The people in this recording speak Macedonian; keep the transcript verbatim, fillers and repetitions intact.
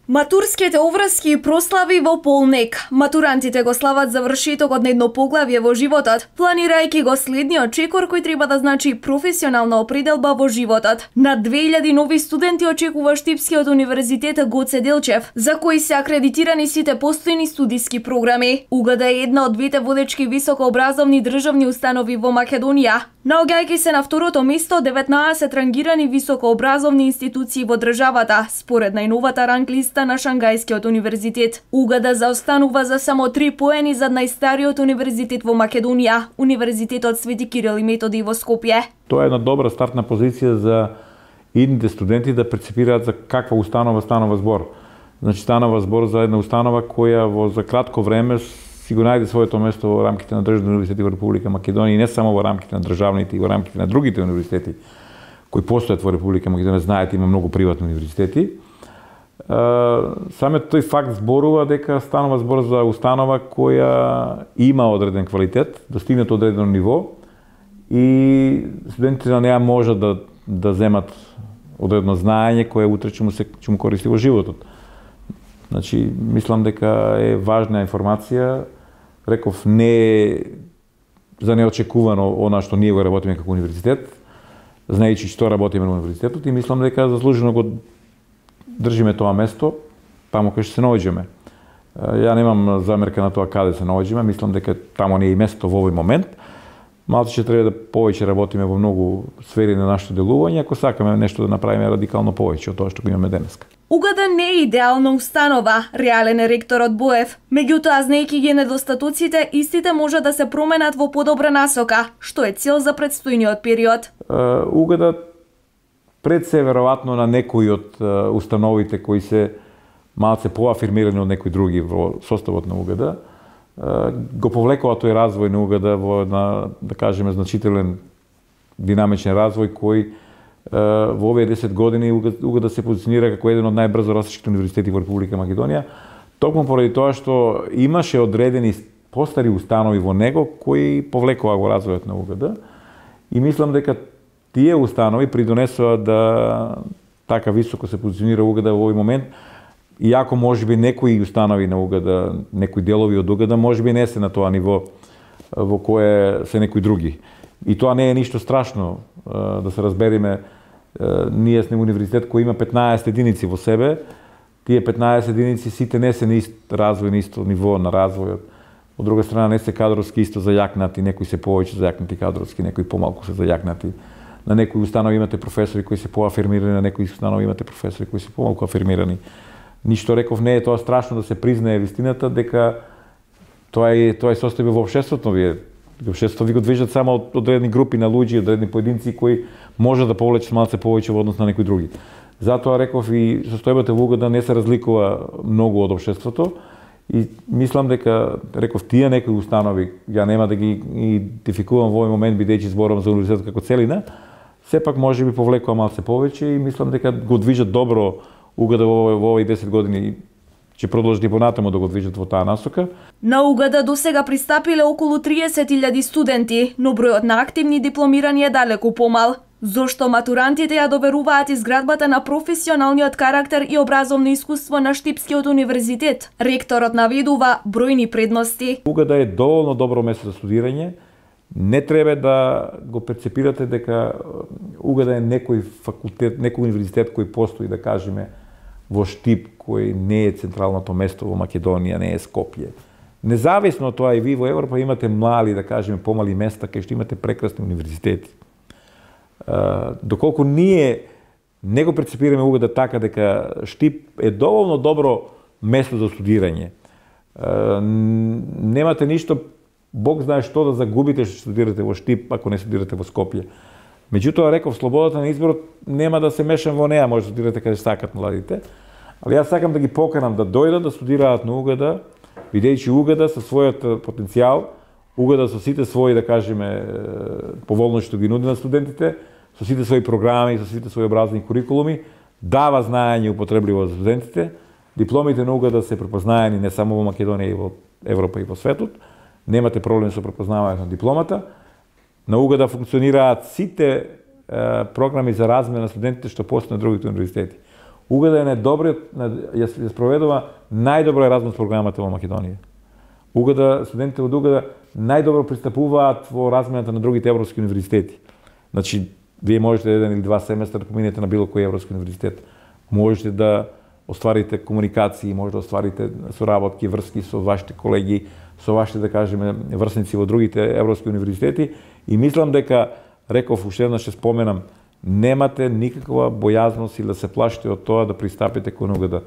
Матурските обврски и прослави во полнек. Матурантите го слават завршетокот на едно поглавје во животот, планирајќи го следниот чекор кој треба да значи професионална определба во животот. Над две илјади нови студенти очекува Штипскиот универзитет Гоце Делчев, за кои се акредитирани сите постојни студиски програми. УГД е една од двете водечки високообразовни државни установи во Македонија, наоѓајќи се на второто место деветнаесет рангирани високообразовни институции во државата, според најновата ранглиста на Шангајскиот универзитет. УГД заостанува за само три поени зад најстариот универзитет во Македонија, Универзитетот Свети Кирил и Методи во Скопје. Тоа е една добра стартна позиција за идните студенти да прецепираат за каква установа станува збор. Значи станува збор за една установа која во за кратко време си го најде своето место во рамките на државни универзитети во Република Македонија и не само во рамките на државните и во рамките на другите универзитети кои постојат во Република Македонија. Знаете, има многу приватни универзитети. Самиот тој факт зборува дека станува збор за установа која има одреден квалитет, достигнат одредено ниво и студентите на неа можат да да земат одредно знаење кое утре ќе му се ќе му користи во животот. Значи, мислам дека е важна информација. Реков, не е за неочекувано она што ние го работиме како универзитет, знаејќи што работиме на универзитетот, и мислам дека заслужено го држиме тоа место таму кај што се наоѓаме. Ја немам замерка на тоа каде се наоѓаме, мислам дека таму не е и место во овој момент. Малку ќе треба да повеќе работиме во многу сфери на нашето делување, ако сакаме нешто да направиме радикално повеќе од тоа што го имаме денеска. УГД не е идеална установа, реален е ректорот Боев. Меѓутоа, знаејќи ги недостатоците, истите може да се променат во подобра насока, што е цел за предстојниот период. УГД пред се веројатно на некои од установите кои се малце поафирмирани од некои други во составот на УГД, го повлекува тој развој на УГД во една, да кажеме, значителен динамичен развој кој во овие десет години УГД се позиционира како еден од најбрзо растещите универзитети во Република Македонија, токму поради тоа што имаше одредени постари установи во него кои повлекува го развојот на УГД и мислам дека тие установи придонесува да така високо се позиционира УГД во овој момент, иако можеби некои установи на УГД, некои делови од УГД можеби не се на тоа ниво во кое се некои други. И тоа не е ништо страшно, да се разбериме. Ние сме универзитет кој има петнаесет единици во себе. Тие петнаесет единици сите не се на ист развој, на исто ниво на развојот. Од друга страна не се кадровски исто зајакнати, некои се повеќе зајакнати кадровски, некои помалку се зајакнати. На некои установи имате професори кои се поафирмирани, на некои установи имате професори кои се помалку афирмирани. Ништо реков не е тоа страшно да се признае вистината дека тоа е тоа е состојбе во општеството. Вие општеството ви го движат само од одредени групи на луѓе, одредени поединци кои може да повлечат малце повеќе во однос на некои други. Затоа реков и состојбата во УГД не се разликува многу од општеството и мислам дека реков тие некои установи, ја нема да ги идентификувам во овој момент бидејќи зборам за универзитетот како целина, сепак можеби повлекува малце повеќе и мислам дека го движат добро УГД во овој десет години, ќе продолжи понатаму да го движат во таа насока. На УГД досега пристапиле околу триесет илјади студенти, но бројот на активни дипломирани е далеку помал. Зошто матурантите ја доверуваат изградбата на професионалниот карактер и образовно искуство на Штипскиот универзитет? Ректорот наведува бројни предности. УГД е доволно добро место за студирање. Не треба да го перцепирате дека УГД е некој факултет, некој универзитет кој постои, да кажеме, во Штип, кој не е централното место во Македонија, не е Скопје. Независно од тоа и ви во Европа имате мали, да кажеме, помали места кај што имате прекрасни универзитети. Доколку ние не го прецепираме УГД така дека Штип е доволно добро место за студирање. Немате ништо, Бог знае што да загубите што студирате во Штип ако не студирате во Скопје. Меѓутоа, реков, слободата на изборот нема да се мешам во неа, може да студирате каде сакат младите. Али јас сакам да ги поканам да дојдат да студираат на УГД, бидејќи УГД со својот потенцијал, УГД со сите своји, да кажеме, поволности што ги нуди на студентите, со сите своји програми, со сите своји образовни курикулуми, дава знаење употребливо за студентите. Дипломите на УГД се препознаени не само во Македонија и во Европа и во светот. Немате проблем со препознавањето на дипломата. На УГД функционираат сите е, програми за размена на студентите што постои на другите универзитети. УГД е најдобриот, ја ја спроведува најдобро Еразмус програмата во Македонија. УГД, студентите од УГД најдобро пристапуваат во размената на другите европски универзитети. Значи, вие можете еден или два семестра да поминете на било кој европски универзитет. Можете да остварите комуникации, може да остварите соработки, врски со вашите колеги, со вашите, да кажеме, врсници во другите европски универзитети и мислам дека, реков уште еднаш ќе споменам, немате никаква бојазност или да се плашите од тоа да пристапите кон УГД.